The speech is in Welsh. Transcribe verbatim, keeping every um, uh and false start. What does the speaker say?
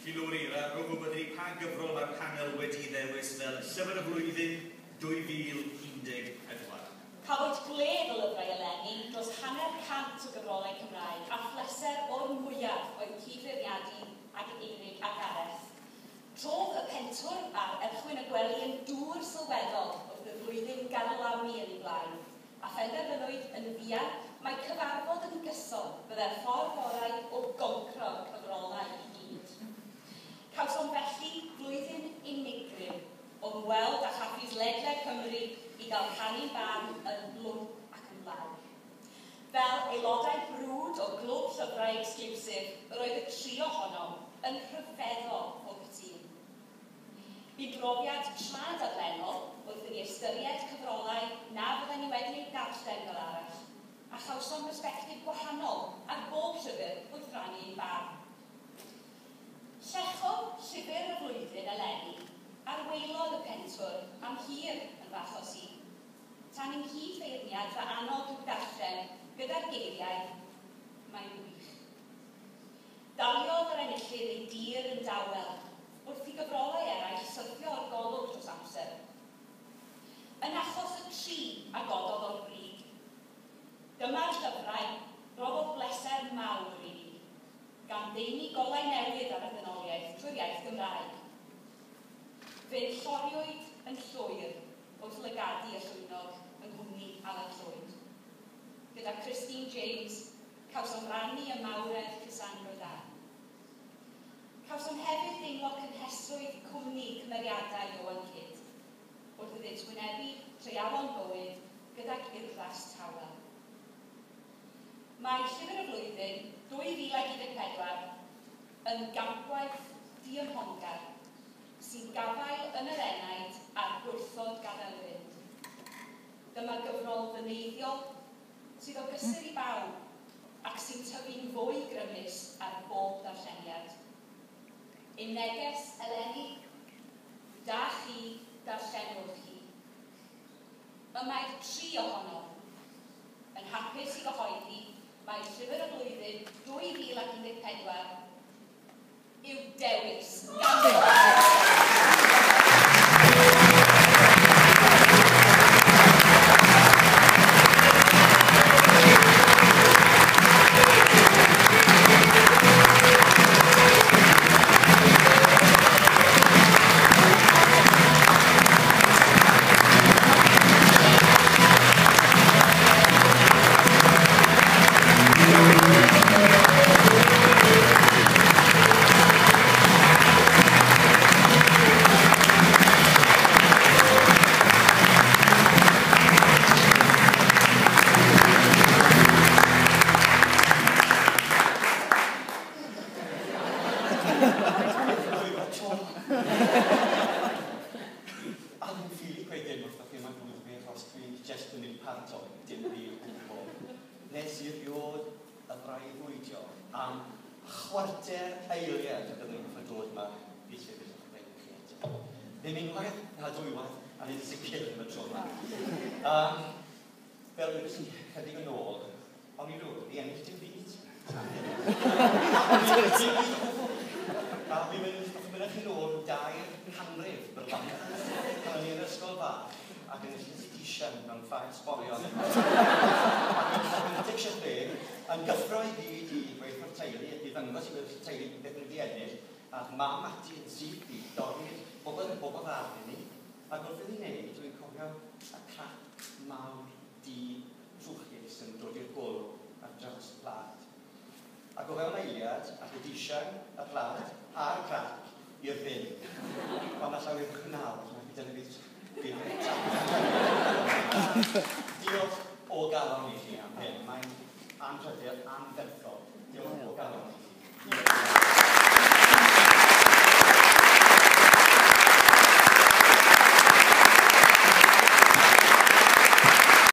Felly Lowri, rwy'n gwybod i ni pa gyfrol mae'r panel wedi ddewis fel Llyfr y Flwyddyn dwy fil un deg pedwar. Cafwyd gwledd o lyfrau eleni dros hanner cant o gyfrolau Cymraeg a phleser o'r mwyaf oedd cyd-feirniadu ag Eurig a Gareth. Trodd y pentwr a'r erchwyn y gwely yn dŵr sylweddol wrth y flwyddyn garlamu yn ei blaen, a phenderfynwyd yn fuan mae cyfarfod yn gyson byddai'r ffordd orau o goncro cyfrolau i gyd. Cawsom felly flwyddyn unigryw o ymweld â chaffis ledled Cymru i gael rhannu'n barn yn blwmp ac yn lawr. Fel aelodau brwd o glwb llyfrau exclusive, yr oedd y tri ohonom yn rhyfeddol o gytûn. Bu brofiad tra dadlennol wrth i ni ystyried cyfrolau na fydden ni wedi eu darllen fel arall, a chawsom bersbectif gwahanol ar bob llyfr wrth rannu ein barn. Llechodd llyfr y flwyddyn eleni ar waelod y pentwr am hir yn fy achos i, tan i'm nghyd-feirniad fy annog i'w darllen gyda'r geiriau, mae'n wych. Daliodd yr enillydd ei dir yn dawel, wrth i gyfrolau eraill syrthio o'r golwg dros amser. Yn achos y tri a gododd o'r brig, dyma'r llyfrau roddodd bleser mawr i ni, gan ddeini golau newydd ar y ddynoliaeth trwy'r iaith Gymraeg. Fe lloriwyd yn llwyr wrth lygadu y llwynog yng nghwmni Alan Llwyd. Gyda Christine James, cawsom rannu y mawredd Cassandra Dda. Cawsom hefyd deimlo cynhesrwydd cwmni cymeriadau Ioan Kidd, wrth iddynt wynebu treialon bywyd gydag urddas tawel. Mae Llyfr y Flwyddyn dwy fil ac un deg pedwar yn gampwaith diymhongar sy'n gafael yn yr enaid a'r gwrthod gadael fynd. Dyma gyfrol ddyneiddiol sydd o gysur i bawb ac sy'n tyfu'n fwy grymus ar bob darlleniad. Ein neges eleni, da chi, darllenwch chi. Y mae'r tri ohonom yn hapus i gyhoeddi mae Llyfr y Flwyddyn dwy fil ac un deg pedwar yw dewis gan A dwi'n ffili gweud dim wrthoch chi am glwyd fi achos dwi jyst yn mynd paratoi dim byd o gwbl. Nes i erioed y breuddwydio am chwarter eiliad y byddwn i'n gorfod dod yma i llyfr y chi eto. Ddim unwaith na dwywaith, a nid yn sicr ddim y tro yma. Um, fel wedes i chydig yn ôl, o'n i rywbeth i ennill dim byd. Dim byd o gwbl. A fi'n mynd, os mynd chi'n ôl dair canrif bron. Pan o'n i yn ysgol fach ac yn ennill institution mewn ffair sborion. Ac yn chwech deg, yn gyffro i gyd i gweud wrth teulu, i ddangos i gweud wrth teulu beth o'n i wedi ennill, a mam ati yn syth i dorri'r bobl bobl dda i ni. Ac wrth iddi wneud, dwi'n cofio y crac mawr du trwchus yn dod i'r golwg ar draws y plât. Ac o fewn eiliad, ath y disian, y plât a'r crac i'r bin. Ond alla i wir nawr, dyna fydd bydd. Diolch o galon i chi am hyn. Mae'n anrhydedd anferthol. Diolch o galon.